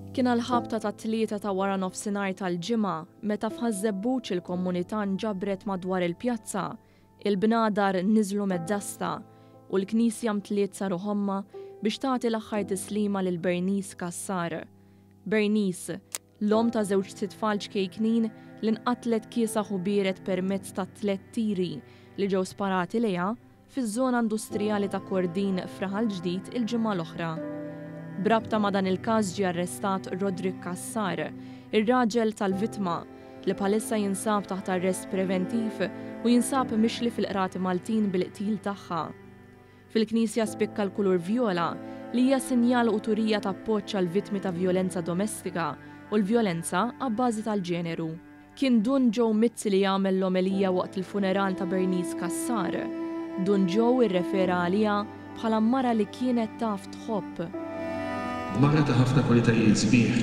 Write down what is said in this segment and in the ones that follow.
Kien għall-ħabta tat-tlieta ta' waranofsinhar tal-Ġimgħa meta f'Ħaż-Żebbuġ il-komunità nġabret madwar il-pjazza, il-bnadar niżlu mad-dasta u l-knisja mtliet sa ruħ ommha biex tagħti l-aħħar tislima lil Bernice Cassar. Bernice, l-omm ta' żewġt itfal ċkejknin li nqatlet kiesaħ u biered permezz ta' tlett tiri li ġew sparati lejha, fiż-żona industrijali ta' Kordin f'Raħal Ġdid il-ġimgħa l-oħra. B'rabta ma' dan il-każ ġie arrestat Roderick Cassar, ir-raġel tal-vittma, li bħalissa jinsab taħt arrest preventiv u jinsab mixli fil-Qrati Maltin bil-qtil tagħha. Fil-knisja spikka l-kulur vjola, li hija sinjal u turija ta' appoġġ għall-vittmi ta' vjolenza domestika u l-vjolenza abbażi tal-ġeneru. Kien Dun Joe Mizzi li għamel l-omelija waqt il-funeral ta' Bernice Cassar. Dun Joe irrefera għaliha bħala mara li kienet taf tħobb. Mara ta' ħafna kwalitajiet sbieħ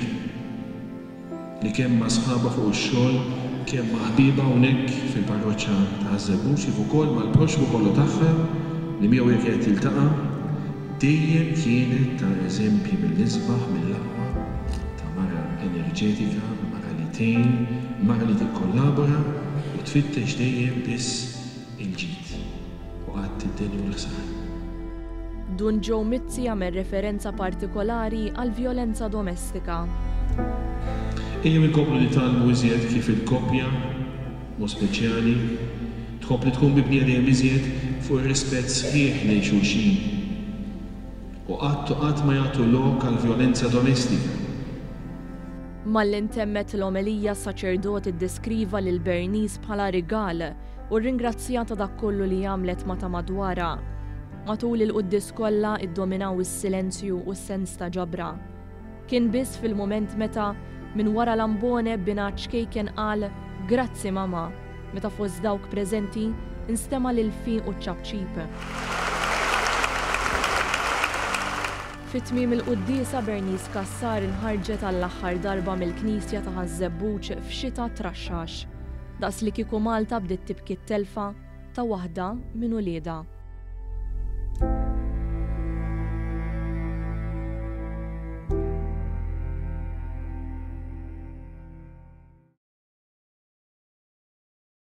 li kemm ma' sħabha fuq ix-xogħol, kemm ma' ħbiebha hawnhekk fil-parroċċa ta' Ħaż-Żebbuġ kif ukoll mal-proxxmu kollu tagħha li miegħu hija kienet tiltaqa' dejjem kienet ta' eżempji mill-isbaħ, mill-aqwa ta' mara enerġetika, mara li tgħin, mara li tikkollabora u tfittex dejjem biss il-ġid u qatt id-deni u l-ħsara. Dun Joe Mizzi għamel referenza partikolari għall-vjolenza domestika. Ejjew inkomplu nitgħallmu iżjed kif il-koppja, b'mod speċjali, tkompli tkun mibnija dejjem iżjed fuq ir-rispett sħiħ lejn xulxin u qatt u qatt ma jagħtu lok għall-vjolenza domestika. Malli ntemmet l-omelija s-saċerdot iddeskriva lil Bernice bħala rigal u rringrazzjaha ta' dak kollu li għamlet ma' ta' madwarha. Matul il-quddies kollha iddominaw is-silenzju u s-sens ta' ġabra. Kien biss fil-mument meta, minn wara l-ambone binha ċ-ċkejken qal Grazzi mama, meta fost dawk preżenti nstema' l-ilfiq u ċ-ċapċip. Fi tmiem il-quddiesa Bernice Cassar inħarġet għall-aħħar darba mill-knisja ta' Ħaż-Żebbuġ f'xita traxxax. Daqs li kieku Malta bdiet tibki t-telfa ta' waħda minn uliedha.